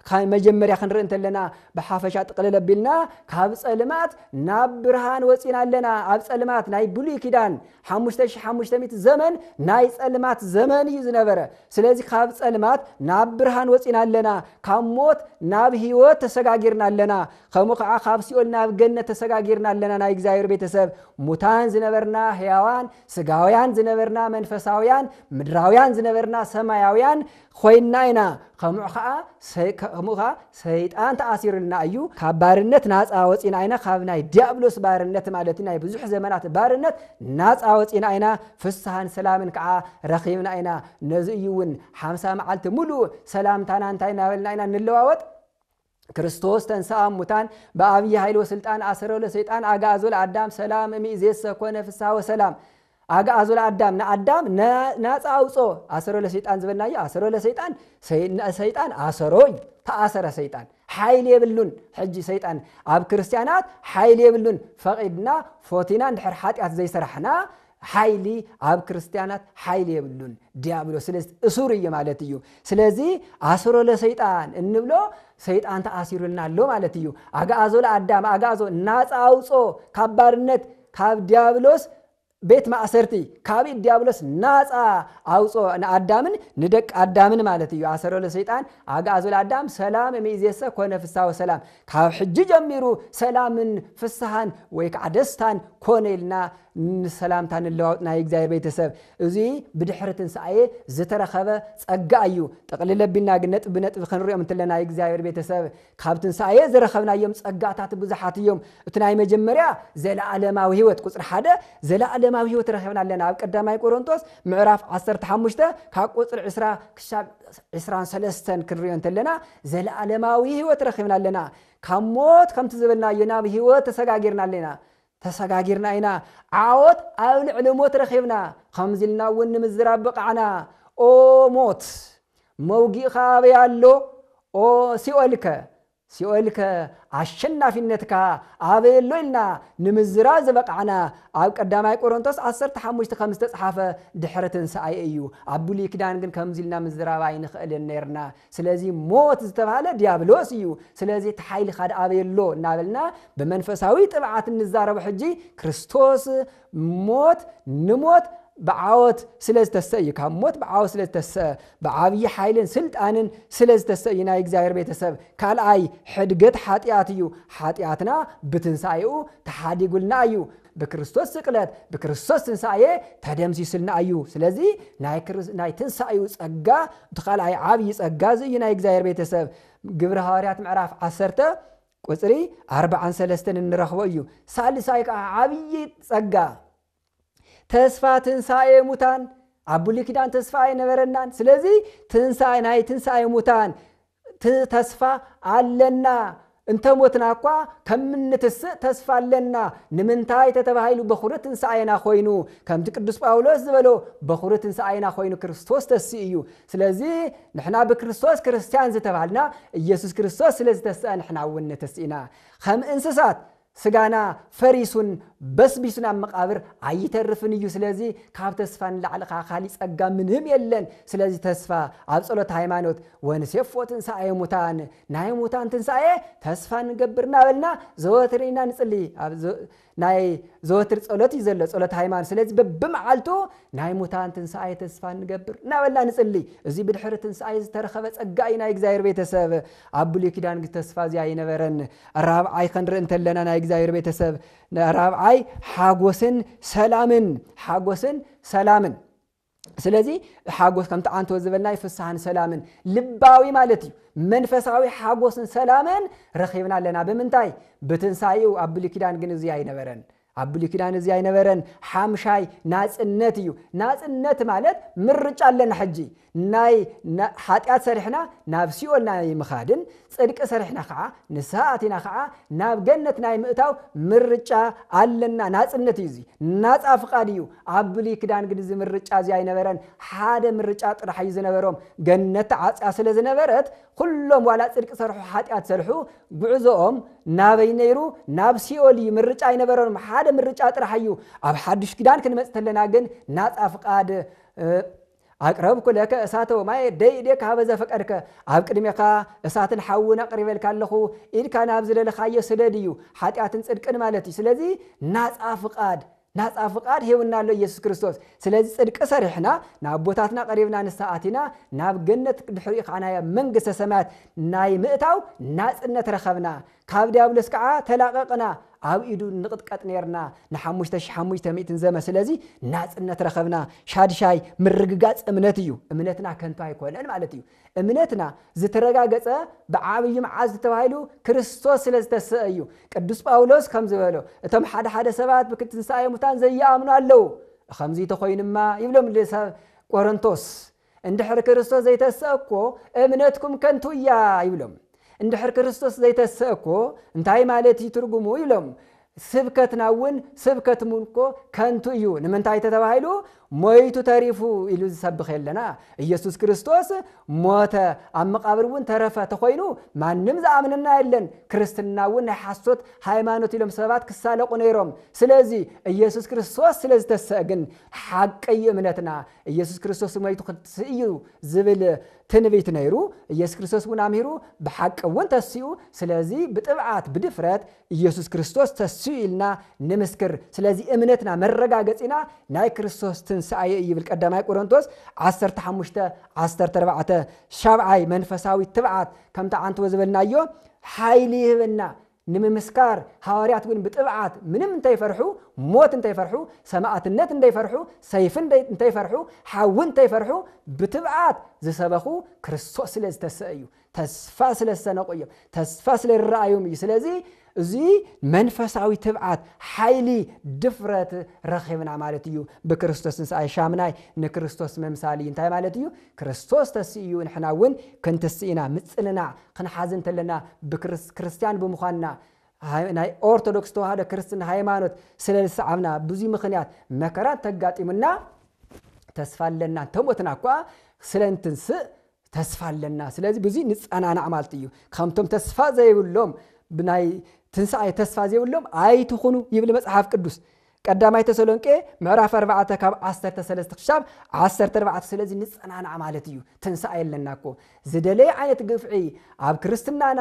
ካብ መጀመርያ ክንርኢ እንተለና ብሓፈሻ ጥቕልል ኣቢልና ካብ ጸልማት ናብ ብርሃን ወጺና ኣለና። ኣብ ጸልማት ናይ ብሉይ ኪዳን ሓሙሽተ ሺሕ ሓሙሽተ ሚእቲ ዘመን ናይ ጸልማት ዘመን እዩ ዝነበረ። ስለዚ ካብ ጸልማት ናብ ብርሃን ወጺና ኣለና። ካብ ሞት ናብ ህይወት ተሰጋጊርና ኣለና። ከምኡ ኸዓ ካብ ሲኦል ናብ ገነት ተሰጋጊርና ኣለና። ናይ እግዚኣብሔር ቤተሰብ ሙታን ዝነበርና ህያዋን፣ ስጋውያን ዝነበርና መንፈሳውያን፣ ምድራውያን ዝነበርና ሰማያውያን ኮይንና ኢና። ከምኡ ኸዓ ሰይ-፣ ከምኡ ኸዓ ሰይጣን ተኣሲሩልና እዩ። ካብ ባርነት ናጻ ወጺና ኢና። ካብ ናይ ዲያብሎስ ባርነት ማለት ናይ ብዙሕ ዘመናት ባርነት ናጻ ወጺና ኢና። ፍስሃን ሰላምን ከዓ ረኺብና ኢና። ነዚ እዩ እውን ሓምሳ መዓልቲ ሙሉእ ሰላምታና እንታይ እናበልና ኢና ንለዋወጥ? ክርስቶስ ተንሥአ እሙታን በአብይ ኃይል ወስልጣን አሰሮ ለሰይጣን አግዓዞ ለአዳም ሰላም እምይእዜሰ ኮነ ፍስሐ ወሰላም። አግዓዞ ለአዳም፣ ንአዳም ነ-፣ ናፃ አውፅኦ። አሰሮ ለሰይጣን ዝበልናዮ፣ አሰሮ ለሰይጣን፣ ሰይ-፣ ሰይጣን አሰሮ እዩ። ተኣሰረ ሰይጣን። ሓይሊ የብሉን። ሕጂ ሰይጣን ኣብ ክርስቲያናት ሓይሊ የብሉን። ፈቒድና፣ ፎቲና፣ እንድሕር ሓጢኣት ዘይሰራሕና፣ ሓይሊ ኣብ ክርስቲያናት ሓይሊ የብሉን። ዲያብሎስ ስለዚ እሱር እዩ ማለት እዩ። ስለዚ አስሮ ለሰይጣን እንብሎ ሰይጣን ተኣሲሩልና ኣሎ ማለት እዩ። አግዓዞ ለአዳም፣ አግዓዞ ናፃ አውፅኦ ካብ ባርነት፣ ካብ ዲያብሎስ ቤት ማእሰርቲ ካብ ኢድ ዲያብሎስ ናፃ ኣውፅኦ፣ ንኣዳምን ንደቂ ኣዳምን ማለት እዩ። ኣሰሮ ለሰይጣን ኣግዓዞ ለኣዳም ሰላም እምይእዜሰ ኮነ ፍስሐ ወሰላም። ካብ ሕጂ ጀሚሩ ሰላምን ፍስሓን ወይ ከዓ ደስታን ኮነ ኢልና ንሰላምታ ንለዋወጥ ናይ እግዚኣብሔር ቤተሰብ። እዚ ብድሕሪ ትንሳኤ ዝተረኸበ ጸጋ እዩ። ጠቕልል ኣቢልና ግን ነጥቢ ብነጥቢ ክንሪኦም እንተለና ናይ እግዚኣብሔር ቤተሰብ ካብ ትንሳኤ ዝረኸብናዮም ጸጋታት ብዙሓት እዮም። እቲ ናይ መጀመርያ ዘለኣለማዊ ህይወት፣ ቁጽሪ ሓደ ዘለኣለማዊ ህይወት ረኺብና ኣለና። ኣብ ቀዳማይ ቆሮንቶስ ምዕራፍ ዓሰርተ ሓሙሽተ ካብ ቁጽሪ ዕስራ ክሳብ ዕስራን ሰለስተን ክንሪኦ እንተለና ዘለኣለማዊ ህይወት ረኺብና ኣለና። ካብ ሞት ከምቲ ዝበልናዮ ናብ ህይወት ተሰጋጊርና ኣለና። ተሰጋጊርና ኢና። ዓወት ኣብ ልዕሊ ሞት ረኺብና። ከምዚ ኢልና እውን ንምዝራብ በቓዕና። ኦ ሞት፣ መውጊእኻ ኣበይ ኣሎ? ኦ ሲኦልከ፣ ሲኦልከ ኣሸናፊነትካ ኣበይ ኣሎ? ኢልና ንምዝራብ ዝበቓዕና ኣብ ቀዳማይ ቆሮንቶስ ዓሰርተ ሓሙሽተ ከም ዝተጽሓፈ ድሕሪ ትንሳኤ እዩ። ኣብ ብሉይ ኪዳን ግን ከምዚ ኢልና ምዝራብ ኣይንኽእልን ነርና። ስለዚ ሞት ዝተባህለ ዲያብሎስ እዩ። ስለዚ እቲ ሓይልኻ ደኣ ኣበይ ኣሎ እናበልና ብመንፈሳዊ ጥብዓት እንዛረቦ ሕጂ ክርስቶስ ሞት ንሞት ብዓወት ስለ ዝተሰ እዩ። ካብ ሞት ብዓወት ስለ ዝተሰ ብዓብዪ ሓይልን ስልጣንን ስለ ዝተሰ እዩ። ናይ እግዚኣብሔር ቤተሰብ ካልኣይ ሕድገት ሓጢኣት እዩ። ሓጢኣትና ብትንሳኤኡ ተሓዲጉልና እዩ። ብክርስቶስ ስቅለት ብክርስቶስ ትንሳኤ ተደምሲስልና እዩ። ስለዚ ናይ ክርስ-፣ ናይ ትንሳኤኡ ጸጋ እቲ ካልኣይ ዓብዪ ጸጋ እዚ እዩ። ናይ እግዚኣብሔር ቤተሰብ ግብሪ ሃዋርያት ምዕራፍ ዓሰርተ ቁጽሪ ኣርባዓን ሰለስተን እንረኽቦ እዩ። ሳልሳይ ከዓ ዓብዪ ጸጋ ተስፋ ትንሳኤ ሙታን። ኣብ ብሉይ ኪዳን ተስፋ ኣይነበረናን። ስለዚ ትንሳኤ፣ ናይ ትንሳኤ ሙታን ት-፣ ተስፋ ኣለና። እንተ ሞትና እኳ ከም እንትስእ ተስፋ ኣለና። ንምንታይ ተተባሂሉ በኹሪ ትንሳኤና ኮይኑ፣ ከምቲ ቅዱስ ጳውሎስ ዝበሎ በኹሪ ትንሳኤና ኮይኑ ክርስቶስ ተስኡ እዩ። ስለዚ ንሕና ብክርስቶስ ክርስቲያን ዝተባህልና ኢየሱስ ክርስቶስ ስለ ዝተስአ ንሕና እውን ንትስእ ኢና። ከም እንስሳት ስጋና ፈሪሱን በስቢሱን ኣብ መቓብር ኣይተርፍን እዩ። ስለዚ ካብ ተስፋ ንላዕሊ ኸዓ ካሊእ ጸጋ ምንም የለን። ስለዚ ተስፋ ኣብ ጸሎት ሃይማኖት ወንሴፎ ትንሳኤ ሙታን፣ ናይ ሙታን ትንሳኤ ተስፋ ንገብር እናበልና ዘወትር ኢና ንጽሊ። ኣብ ዘ-፣ ናይ ዘወትር ጸሎት እዩ ዘሎ፣ ጸሎት ሃይማኖት። ስለዚ በብመዓልቱ ናይ ሙታን ትንሳኤ ተስፋ ንገብር እናበልና ንጽሊ። እዚ ብድሕሪ ትንሳኤ ዝተረኸበ ጸጋ እዩ ናይ እግዚኣብሔር ቤተሰብ። ኣብ ብሉይ ኪዳን ግን ተስፋ እዚ ኣይነበረን። ራብዓይ ክንርኢ እንተለና ናይ እግዚኣብሔር ቤተሰብ፣ ራብዓይ ሓጎስን ሰላምን፣ ሓጎስን ሰላምን። ስለዚ ሓጎስ ከምቲ ዓንቶ ዝበልናይ ፍስሓን ሰላምን ልባዊ ማለት እዩ። መንፈሳዊ ሓጎስን ሰላምን ረኺብና ኣለና። ብምንታይ? ብትንሳኤኡ። ኣብ ብሉይ ኪዳን ግን እዚ ኣይነበረን። ኣብ ብሉይ ኪዳን እዚ ኣይነበረን። ሓምሻይ ናጽነት እዩ። ናጽነት ማለት ምርጫ ኣለና ሕጂ። ናይ ና-፣ ሓጢኣት ሰሪሕና ናብ ሲኦል ናይ ምኻድን፣ ጽድቂ ሰሪሕና ኸዓ፣ ንስሓ ኣቲና ኸዓ ናብ ገነት ናይ ምእታው ምርጫ ኣለና። ናጽነት እዩ እዚ። ናጻ ፍቓድ እዩ። ኣብ ብሉይ ኪዳን ግን እዚ ምርጫ እዚ ኣይነበረን። ሓደ ምርጫ ጥራሕ እዩ ዝነበሮም። ገነት ተዓጽያ ስለ ዝነበረት፣ ኩሎም ዋላ ጽድቂ ሰርሑ፣ ሓጢኣት ሰርሑ፣ ጉዕዞኦም ናበይ ነይሩ? ናብ ሲኦል እዩ። ምርጫ ኣይነበሮም። ሓደ ምርጫ ጥራሕ እዩ። ኣብ ሓዱሽ ኪዳን ክንመጽእ ተለና ግን ናጻ ፍቓድ፣ እ፣ ኣቅረብኩ ለከ እሳተ ወማየ ደይእዴከ ሀበ ዘፈቀድከ፣ ኣብ ቅድሜኻ እሳትን ሓውን ኣቕሪበልካ ኣለኹ፣ ኢድካ ናብ ዝደለኻዮ ስደድ እዩ። ሓጢኣትን ጽድቅን ማለት እዩ። ስለዚ ናጻ ፍቓድ፣ ናጻ ፍቓድ ሂቡና ኣሎ ኢየሱስ ክርስቶስ። ስለዚ ጽድቂ ሰሪሕና፣ ንኣቦታትና ቀሪብና፣ ንስሓ ኣቲና፣ ናብ ገነት ድሕሪኡ ከዓ ናይ መንግስተ ሰማያት ናይ ምእታው ናጽነት ረኸብና። ካብ ዲያብሎስ ከዓ ተላቐቕና፣ ኣብ ኢዱ ንቕጥቀጥ ነርና ንሓሙሽተ ሺሕ ሓሙሽተ ሚእትን ዘመን። ስለዚ ናጽነት ረኸብና። ሻድሻይ ምርግጋጽ እምነት እዩ። እምነትና ከንቱ ኣይኮነን ማለት እዩ። እምነትና ዝተረጋገጸ ብዓብዪ መዓዝ ተባሂሉ? ክርስቶስ ስለ ዝተሰአ እዩ። ቅዱስ ጳውሎስ ከም ዝበሎ፣ እቶም ሓደ ሓደ ሰባት ብትንሳኤ ሙታን ዘይኣምኑ ኣለዉ። ከምዚ ተኾይኑማ ይብሎም ንሰብ ቆሮንቶስ፣ እንድሕር ክርስቶስ ዘይተሰአ እኮ እምነትኩም ከንቱ እያ ይብሎም። እንድሕር ክርስቶስ ዘይተሰአ እኮ እንታይ ማለት እዩ ትርጉሙ ይብሎም። ስብከትና እውን ስብከትኩም እኮ ከንቱ እዩ። ንምንታይ ተተባሂሉ? ሞይቱ ተሪፉ ኢሉ ዝሰብኽ የለና። ኢየሱስ ክርስቶስ ሞተ፣ ኣብ መቓብር እውን ተረፈ ተኾይኑ ማንም ዝኣምነና የለን። ክርስትና እውን ናይ ሓሶት ሃይማኖት ኢሎም ሰባት ክሳለቑ ነይሮም። ስለዚ ኢየሱስ ክርስቶስ ስለ ዝተሰአ ግን ሓቂ እዩ እምነትና። ኢየሱስ ክርስቶስ ሞይቱ ክትስእ እዩ ዝብል ትንቢት ነይሩ። ኢየሱስ ክርስቶስ እውን ኣምሂሩ ብሓቂ እውን ተሲኡ። ስለዚ ብጥብዓት ብድፍረት ኢየሱስ ክርስቶስ ተሲኡ ኢልና ንምስክር። ስለዚ እምነትና መረጋገጺና ናይ ክርስቶስ ትንሳኤ እዩ ይብል ቀዳማይ ቆሮንቶስ ዓሰርተ ሓሙሽተ ዓሰርተ ኣርባዕተ። ሻብዓይ መንፈሳዊ ትብዓት ከምቲ ዓንትዎ ዝበልናዮ ሓይሊ ይህበና። ንምምስካር ሃዋርያት እውን ብጥብዓት ምንም እንተይፈርሑ፣ ሞት እንተይፈርሑ፣ ሰማእትነት እንተይፈርሑ፣ ሰይፊ እንተይ- እንተይፈርሑ፣ ሓዊ እንተይፈርሑ ብትብዓት ዝሰበኹ ክርስቶስ ስለ ዝተሰአ እዩ። ተስፋ ስለ ዝሰነቁ እዮም። ተስፋ ስለ ዝረኣዮም እዩ። ስለዚ እዚ መንፈሳዊ ትብዓት ሓይሊ ድፍረት ረኺብና ማለት እዩ። ብክርስቶስ ትንሳኤ ሻምናይ ንክርስቶስ ምምሳል እዩ። እንታይ ማለት እዩ? ክርስቶስ ተስኡ እዩ፣ ንሕና እውን ክንትስእ ኢና። ምጽንናዕ ክንሓዝ እንተለና ብክርስ- ክርስትያን ብምዃንና ሃይ- ናይ ኦርቶዶክስ ተዋህዶ ክርስትና ሃይማኖት ስለ ዝሰዓብና ብዙ ምኽንያት መከራ ተጋጢሙና ተስፋ ኣለና። እንተሞትና እኳ ስለ እንትንስእ ተስፋ ኣለና። ስለዚ ብዙ ንጸናናዕ ማለት እዩ። ከምቶም ተስፋ ዘይብሎም ብናይ ትንሳኤ ተስፋ ዘይብሎም ኣይትኹኑ ይብል መጽሓፍ ቅዱስ። ቀዳማይ ተሰሎንቄ ምዕራፍ ኣርባዕተ ካብ ዓሰርተ ሰለስተ ክሻብ ዓሰርተ ኣርባዕተ። ስለዚ ንጸናናዕ ማለት እዩ። ትንሳኤ ኣለና እኮ። ዝደለየ ዓይነት ግፍዒ ኣብ ክርስትናና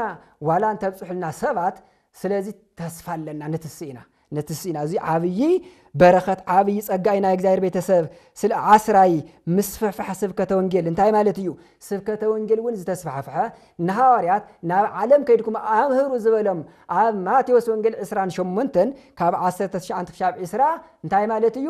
ዋላ እንተብጽሑልና ሰባት ስለዚ ተስፋ ኣለና፣ ንትስእ ኢና፣ ንትስእ ኢና። እዚ ዓብዪ በረኸት፣ ዓብዪ ጸጋ እዩ ናይ እግዚኣብሔር ቤተሰብ። ስለ ዓስራይ ምስፍሕፋሕ ስብከተ ወንጌል እንታይ ማለት እዩ? ስብከተ ወንጌል እውን ዝተስፋሕፍሐ፣ ንሃዋርያት ናብ ዓለም ከይድኩም ኣምህሩ ዝበሎም ኣብ ማቴዎስ ወንጌል ዕስራን ሸሞንተን ካብ ዓሰርተ ትሽዓተ ክሻብ ዕስራ እንታይ ማለት እዩ?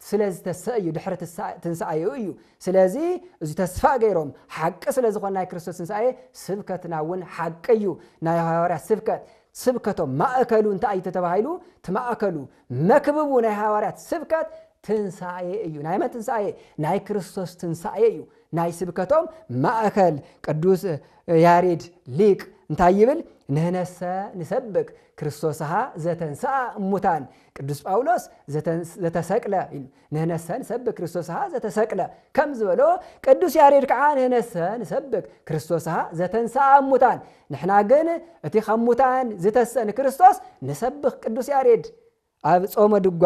ስለ ዝተሰእ እዩ፣ ድሕሪ ትሳ- ትንሳኤኡ እዩ። ስለዚ እዚ ተስፋ ገይሮም ሓቂ ስለ ዝኾነ ናይ ክርስቶስ ትንሳኤ ስብከትና እውን ሓቂ እዩ። ናይ ሃዋርያት ስብከት ስብከቶም ማእከሉ እንታይ እዩ ተተባሂሉ? እቲ ማእከሉ መክብቡ ናይ ሃዋርያት ስብከት ትንሳኤ እዩ። ናይ መን ትንሳኤ? ናይ ክርስቶስ ትንሳኤ እዩ። ናይ ስብከቶም ማእከል ቅዱስ ያሬድ ሊቅ እንታይ ይብል? ንህነሰ ንሰብክ ክርስቶስሃ ዘተንስኣ እሙታን። ቅዱስ ጳውሎስ ዘተንስ- ዘተሰቅለ ኢሉ፣ ንህነሰ ንሰብክ ክርስቶስሃ ዘተሰቅለ ከም ዝበሎ ቅዱስ ያሬድ ከዓ ንህነሰ ንሰብክ ክርስቶስሃ ዘተንስኣ እሙታን። ንሕና ግን እቲ ካብ ሙታን ዝተሰ ንክርስቶስ ንሰብኽ ቅዱስ ያሬድ ኣብ ጾመ ድጓ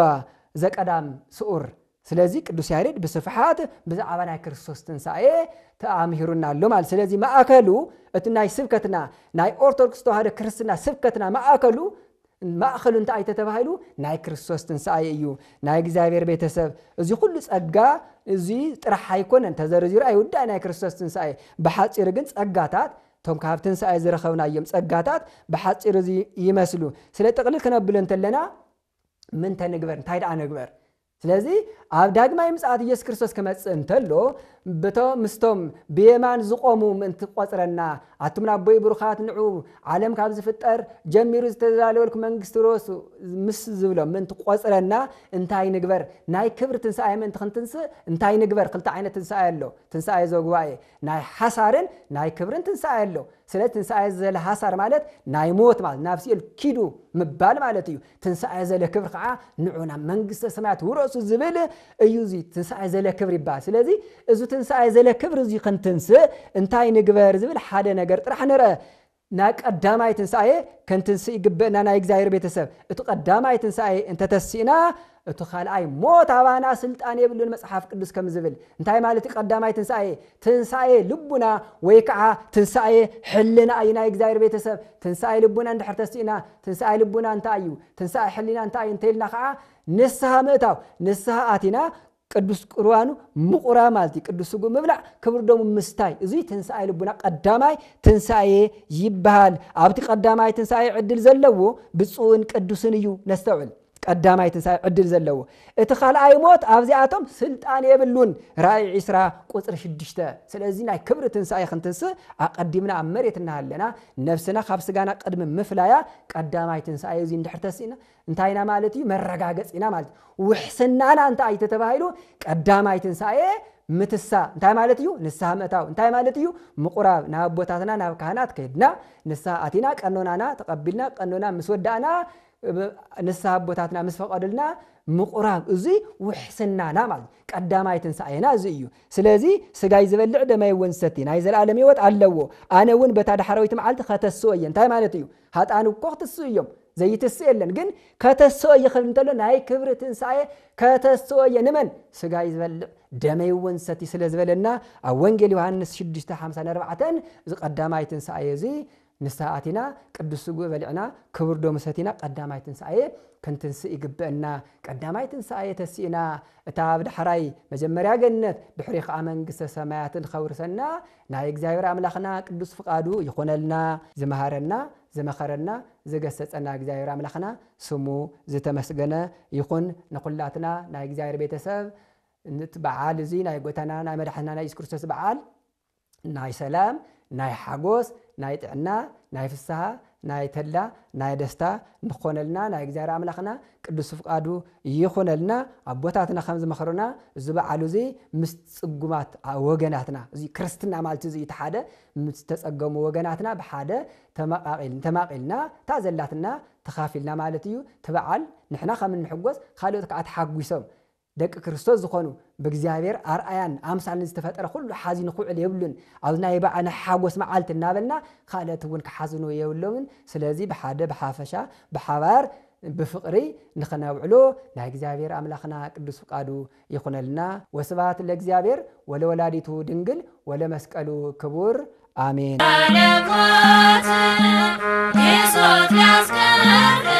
ዘቀዳም ስዑር። ስለዚ ቅዱስ ያሬድ ብስፍሓት ብዛዕባ ናይ ክርስቶስ ትንሳኤ ተኣምሂሩና ኣሎ ማለት። ስለዚ ማእከሉ እቲ ናይ ስብከትና ናይ ኦርቶዶክስ ተዋህዶ ክርስትና ስብከትና ማእከሉ ማእከሉ እንታይ ተተባሂሉ? ናይ ክርስቶስ ትንሳኤ እዩ። ናይ እግዚኣብሔር ቤተሰብ እዚ ኩሉ ጸጋ እዚ ጥራሕ ኣይኮነን፣ ተዘርዚሩ ኣይውዳእ ናይ ክርስቶስ ትንሳኤ። ብሓጺሩ ግን ጸጋታት እቶም ካብ ትንሳኤ ዝረኸብናዮም ጸጋታት ብሓጺሩ እዚ ይመስሉ። ስለ ጥቕልል ክነብሎ እንተለና ምን ተንግበር እንታይ ደኣ ንግበር? ስለዚ ኣብ ዳግማይ ምጽኣት ኢየሱስ ክርስቶስ ክመጽእ እንተሎ ብቶ ምስቶም ብየማን ዝቆሙ ምእንቲ ቆጽረና ኣቱም ናቦይ ብሩኻት ንዑ ዓለም ካብ ዝፍጠር ጀሚሩ ዝተዳለወልኩ መንግስቲ ሮሱ ምስ ዝብሎም ምእንቲ ቆጽረና እንታይ ንግበር? ናይ ክብሪ ትንሳኤ ምእንቲ ክንትንስእ እንታይ ንግበር? ክልተ ዓይነት ትንሳኤ ኣሎ። ትንሳኤ ዘጉባኤ ናይ ሓሳርን ናይ ክብርን ትንሳኤ ኣሎ። ስለ ትንሳኤ ዘለ ሓሳር ማለት ናይ ሞት ማለት ናብ ሲኦል ኪዱ ምባል ማለት እዩ። ትንሳኤ ዘለ ክብሪ ከዓ ንዑ ናብ መንግስተ ሰማያት ውረሱ ዝብል እዩ። እዚ ትንሳኤ ዘለ ክብሪ ይበሃል። ስለዚ እዚ ትንሳኤ ዘለ ክብሪ እዚ ክንትንስእ እንታይ ንግበር ዝብል ሓደ ነገር ጥራሕ ንርአ። ናይ ቀዳማይ ትንሳኤ ክንትንስእ ይግበእና ናይ እግዚኣብሔር ቤተሰብ። እቲ ቀዳማይ ትንሳኤ እንተተሲእና እቲ ካልኣይ ሞት ኣባና ስልጣን የብሉን መጽሓፍ ቅዱስ ከም ዝብል። እንታይ ማለት እዩ ቀዳማይ ትንሳኤ? ትንሳኤ ልቡና ወይ ከዓ ትንሳኤ ሕልና እዩ ናይ እግዚኣብሔር ቤተሰብ። ትንሳኤ ልቡና እንድሕር ተሲእና ትንሳኤ ልቡና እንታይ እዩ? ትንሳኤ ሕልና እንታይ እዩ እንተኢልና ከዓ ንስሃ ምእታው። ንስሃ ኣቲና ቅዱስ ቁርባኑ ምቑራብ ማለት እዩ። ቅዱስ ስጉ ምብላዕ ክብር ደሙ ምስታይ። እዚ ትንሳኤ ልቡና ቀዳማይ ትንሳኤ ይበሃል። ኣብቲ ቀዳማይ ትንሳኤ ዕድል ዘለዎ ብፁዕን ቅዱስን እዩ። ነስተውዕል። ቀዳማይ ትንሳኤ ዕድል ዘለዎ። እቲ ካልኣይ ሞት ኣብዚኣቶም ስልጣን የብሉን። ራእይ ዕስራ ቁፅሪ ሽዱሽተ። ስለዚ ናይ ክብሪ ትንሳኤ ክንትንስእ ኣቐዲምና ኣብ መሬት እናሃለና ነብስና ካብ ስጋና ቅድሚ ምፍላያ ቀዳማይ ትንሳኤ እዚ እንድሕር ተሲእና እንታይ ኢና ማለት እዩ? መረጋገፂ ኢና ማለት እዩ። ውሕስናና እንታይ እዩ ተተባሂሉ? ቀዳማይ ትንሳኤ ምትሳ እንታይ ማለት እዩ? ንስሃ ምእታው እንታይ ማለት እዩ? ምቑራብ ናብ ኣቦታትና ናብ ካህናት ከይድና ንስሃ ኣቲና ቀኖናና ተቐቢልና ቀኖና ምስ ወዳእና ንስሃ ኣቦታትና ምስ ፈቐዱልና ምቑራብ፣ እዚ ውሕስናና ማለት እዩ። ቀዳማይ ትንሳኤና እዚ እዩ። ስለዚ ስጋይ ዝበልዕ ደመይ እውን ዝሰቲ ናይ ዘለኣለም ህይወት ኣለዎ፣ ኣነ እውን በታ ዳሕረወይቲ መዓልቲ ከተስኦ እየ። እንታይ ማለት እዩ? ሃጣን እኮ ክትስኡ እዮም፣ ዘይትስእ የለን። ግን ከተስኦ እየ ክብል እንተሎ ናይ ክብሪ ትንሳኤ፣ ከተስኦ እየ። ንመን? ስጋይ ዝበልዕ ደመይ እውን ዝሰቲ ስለ ዝበለና፣ ኣብ ወንጌል ዮሃንስ ሽዱሽተ ሓምሳ ንኣርባዕተ እዚ ቀዳማይ ትንሳኤ እዚ ንስሓ ኣቲና፣ ቅዱስ ስግኡ በሊዕና፣ ክቡር ደሙ ሰቲና፣ ቀዳማይ ትንሳኤ ክንትንስእ ይግበአና። ቀዳማይ ትንሳኤ ተሲእና፣ እታ ኣብ ዳሕራይ መጀመርያ ገነት፣ ድሕሪ ከዓ መንግስተ ሰማያትን ከውርሰና ናይ እግዚኣብሔር ኣምላኽና ቅዱስ ፍቃዱ ይኹነልና። ዝመሃረና፣ ዝመኸረና፣ ዝገሰጸና እግዚኣብሔር ኣምላኽና ስሙ ዝተመስገነ ይኹን። ንኹላትና ናይ እግዚኣብሔር ቤተሰብ፣ ንቲ በዓል እዚ ናይ ጎይታና ናይ መድሓንና ናይ የሱስ ክርስቶስ በዓል ናይ ሰላም፣ ናይ ሓጎስ፣ ናይ ጥዕና፣ ናይ ፍስሃ፣ ናይ ተድላ፣ ናይ ደስታ ንኾነልና ናይ እግዚኣብሔር ኣምላኽና ቅዱስ ፍቃዱ ይኹነልና። ኣቦታትና ከም ዝመኽሩና፣ እዚ በዓሉ እዚ ምስ ጽጉማት ወገናትና፣ እዚ ክርስትና ማለት እዚ እቲ ሓደ፣ ምስ ተጸገሙ ወገናትና ብሓደ ተመቃቂል-፣ ተማቂልና፣ እታ ዘላትና ተኻፊልና ማለት እዩ። እቲ በዓል ንሕና ከም እንሕጎስ፣ ካልኦት ከዓ ተሓጒሶም፣ ደቂ ክርስቶስ ዝኾኑ፣ ብእግዚኣብሔር ኣርኣያን ኣምሳልን ዝተፈጠረ ኩሉ ሓዚኑ ክውዕል የብሉን። ኣብዚ ናይ በዓ-፣ ናይ ሓጎስ መዓልቲ እናበልና፣ ካልኦት እውን ክሓዝኑ የብሎምን። ስለዚ ብሓደ፣ ብሓፈሻ፣ ብሓባር፣ ብፍቕሪ ንኽነውዕሎ ናይ እግዚኣብሔር ኣምላኽና ቅዱስ ፍቃዱ ይኹነልና። ወስብሐት ለእግዚኣብሔር ወለወላዲቱ ድንግል ወለመስቀሉ ክቡር። ኣሜን። መለኮት የሱስ ያስከብር